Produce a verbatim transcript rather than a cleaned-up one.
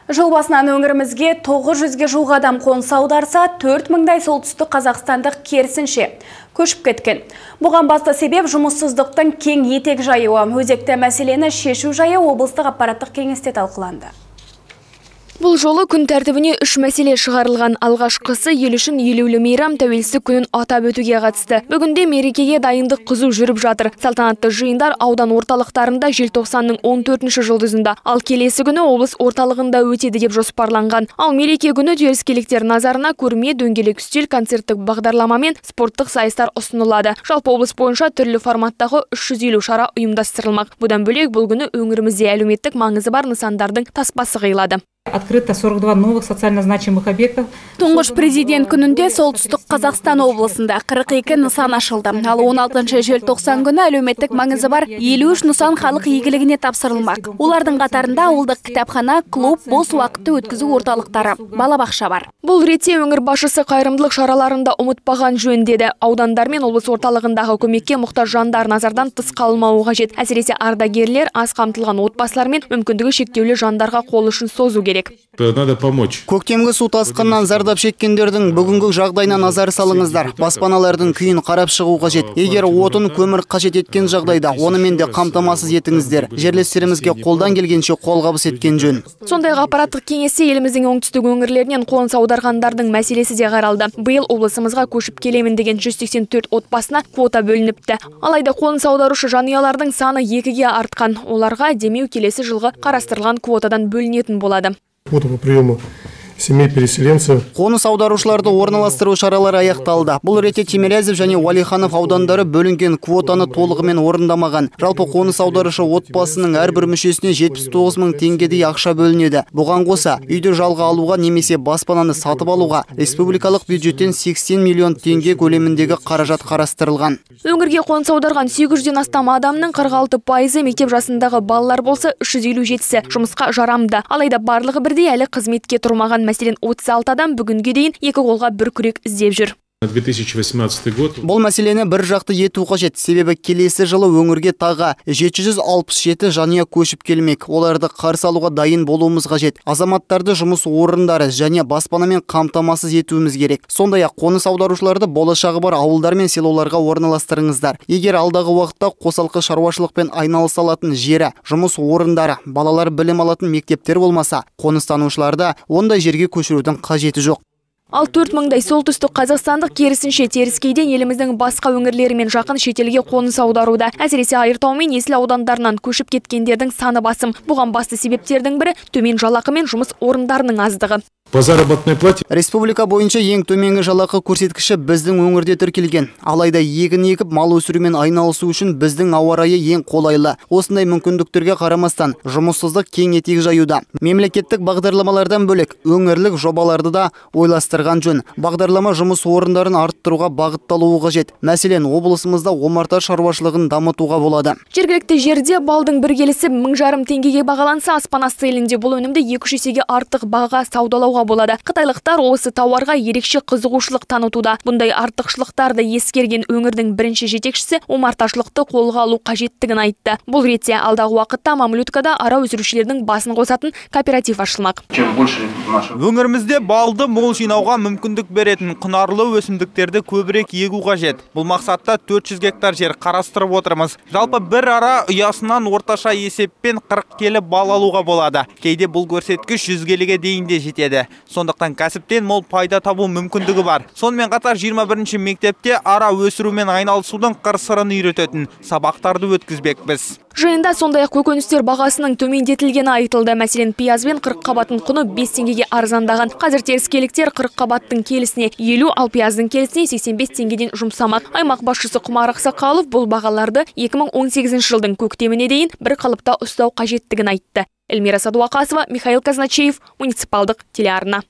Жыл басынан өңірімізге тоғыз жүзге жуық адам қоныс аударса, төрт мыңдай солтүстік қазақстандық керісінше көшіп кеткен. Бұған басты себеп жұмыссыздықтың кең етек жайуы. Өзекті мәселені шешу жайы облыстық аппараттық кеңесте талқыланды. Бұл жолы күн тәртібіне үш мәселе шығарылған. Алғашқысы ел үшін елеулі мейрам тәуелсіздік күнін атап өтуге қатысты. Бүгінде мерекеге дайындық қызу жүріп жатыр. Салтанатты жиындар аудан орталықтарында желтоқсанның он төртінші жұлдызында, ал келесі күні облыс орталығында өтеді деп жоспарланған. Ал мереке күні теріскейліктер назарына көрме, дөңгелек үстел, концерттік бағдарлама мен спорттық сайыстар ұсынылады. Жалпы облыс бойынша түрлі форматтағы үш жүз елу шара ұйымдастырылмақ. Бұдан бөлек бұл күні өңірімізде әлеуметтік маңызы бар нысандардың таспасы қиылады. Открыто сорок два новых социально значимых объектов. Тұңғыш президент күнінде солтүстік Қазақстан облысында қырық екі нысан ашылды. Ал он алтыншы желтоқсан күні әлеуметтік маңызы бар елу үш нысан халық игілігіне тапсырылмақ. Олардың қатарында ауылдық кітапхана, клуб, бос уақытты өткізу орталықтары, балабақша бар. Бұл ретте өңір басшысы қайырымдылық шараларында ұмытпаған жөн деді. Аудандар мен облыс орталығындағы көмекке мұқтаж жандар назардан тыс қалмауы қажет. Әсіресе ардагерлер, аз қамтылған отбасылар мен мүмкіндігі шектеулі жандарға қол ұшын созу керек. Надо помочь. Көктемгі су тасқынынан зардап шеккендердің бүгінгі жағдайына назар салыңыздар. Баспаналардың күйін қарап шығу қажет. Егер отын, көмір қажет еткен жағдайда, онымен де қамтамасыз етіңіздер. Жерлестерімізге қолдан келгенше қолғабыс еткен жөн. Сондай-ақ аппараттық кеңесте еліміздің оңтүстік өңірлерінен қоныс аударғандардың мәселесі де қаралды. Биыл облысымызға көшіп келемін деген жүз сексен төрт отбасына квота бөлініпті. Алайда қоныс аударушы жанұялардың саны екіге артқан. Оларға демеу келесі жылғы қарастырылған квотадан бөлінетін болады. Квота по приему семей переселенцев. Қоныс аударушыларды орналастыру шаралары аяқталды. Бұл ретте Тимирязев және Уалиханов аудандары бөлінген квотаны толығымен орындамаған. Жалпы қоныс аударушы отбасының әрбір мүшесіне жетпіс тоғыз мың теңгедей ақша бөлінеді. Бұған қоса, үйді жалға алуға немесе баспананы сатып алуға республикалық бюджеттен сексен миллион теңге көлеміндегі қаражат қарастырылған. Өңірге қоныс аударған сегіз жүзден астам адамның қырық алты пайызы мектеп жасындағы балалар болса, үш жүз елу жетісі жұмысқа жарамды. Алайда барлығы бірдей әлі қызметке тұрмаған. Мәселен, отыз алты адам бүгінге дейін екі қолға бір күрек іздеп жүр. две тысячи восемнадцатый год. Бұл мәселені бір жақты ету қажет. Себебі келесі жылы өңірге тағы жеті жүз алпыс жеті жанұя көшіп келмек. Оларды қарсы алуға дайын болуымыз қажет. Азаматтарды жұмыс орындары және баспанамен қамтамасыз етуіміз керек. Сондай-ақ қоныс аударушыларды болашағы бар ауылдар мен селоларға орналастырыңыздар. Егер алдағы уақытта қосалқы шаруашылықпен айналыса алатын жері, жұмыс орындары, балалар білім алатын мектептер болмаса, қоныстанушыларды ондай жерге көшірудің қажеті жоқ. Ал төрт мыңдай солтүстік қазақстандық керісінше теріскейден еліміздің басқа өңірлерімен жақын шетелге қоныс аударуда. Әсіресе Айыртау мен Есіл аудандарынан көшіп кеткендердің саны басым. Бұған басты себептердің бірі төмен жалақы мен жұмыс орындарының аздығы. По заработной плате. Республика бойынша ең төменгі жалақы көрсеткіші біздің өңірде тіркелген. Алайда егін егіп мал өсірумен айналысу үшін біздің ауа райы ең қолайлы. Осындай мүмкіндіктерге қарамастан жұмыссыздық кең етек жаюда. Мемлекеттік бағдарламалардан бөлек өңірлік жобаларды да ойластырған жөн. Бағдарлама жұмыс орындарын арттыруға бағытталуы қажет. Мәселен, облысымызда омарта шаруашылығын дамытуға болады. Жергілікті жерде балдың бір келісі мың жарым теңгеге бағаланса, аспан асты елінде бұл өнімді екі жүз есеге артық баға саудалауға болады. Қытайлықтар осы тауарға ерекше қызығушылық танытуда. Бұндай артықшылықтарды ескерген өңірдің бірінші жетекшісі омарташылықты қолға алу қажеттігін айтты. Бұл ретте алдағы уақытта Мамлюткада ара өсірушілердің басын қосатын кооператив ашылмақ. Өңірімізде балды мол жинауға мүмкіндік беретін құнарлы өсімдіктерді көбірек егу қажет. Бұл мақсатта төрт жүз гектар жер қарастырып отырмыз. Жалпы бір ара ұясынан орташа есеппен қырық келі бал алуға болады. Кейде бұл көрсеткіш жүз келіге дейін де жетеді. Сондықтан кәсіптен мол пайда табу мүмкіндігі бар. Сонымен қатар жиырма бірінші мектепте ара өсірумен айналысудың қыр-сырын үйрететін сабақтарды өткізбекпіз. Жиында сондай-ақ көкөністер бағасының төмендетілгені айтылды. Мәселен, пияз бен қырық қабаттың құны бес теңгеге арзандаған. Қазір теріскейліктер қырық қабаттың келісіне елу, ал пияздың келісіне сексен бес теңгеден жұмсамақ. Аймақ басшысы Құмар Ақсақалов бұл бағаларды екі мың он сегізінші жылдың көктеміне дейін бір қалыпта ұстау қажеттігін айтты. Эльмира Садуақасова, Михаил Казначеев, муниципалдық телеарна.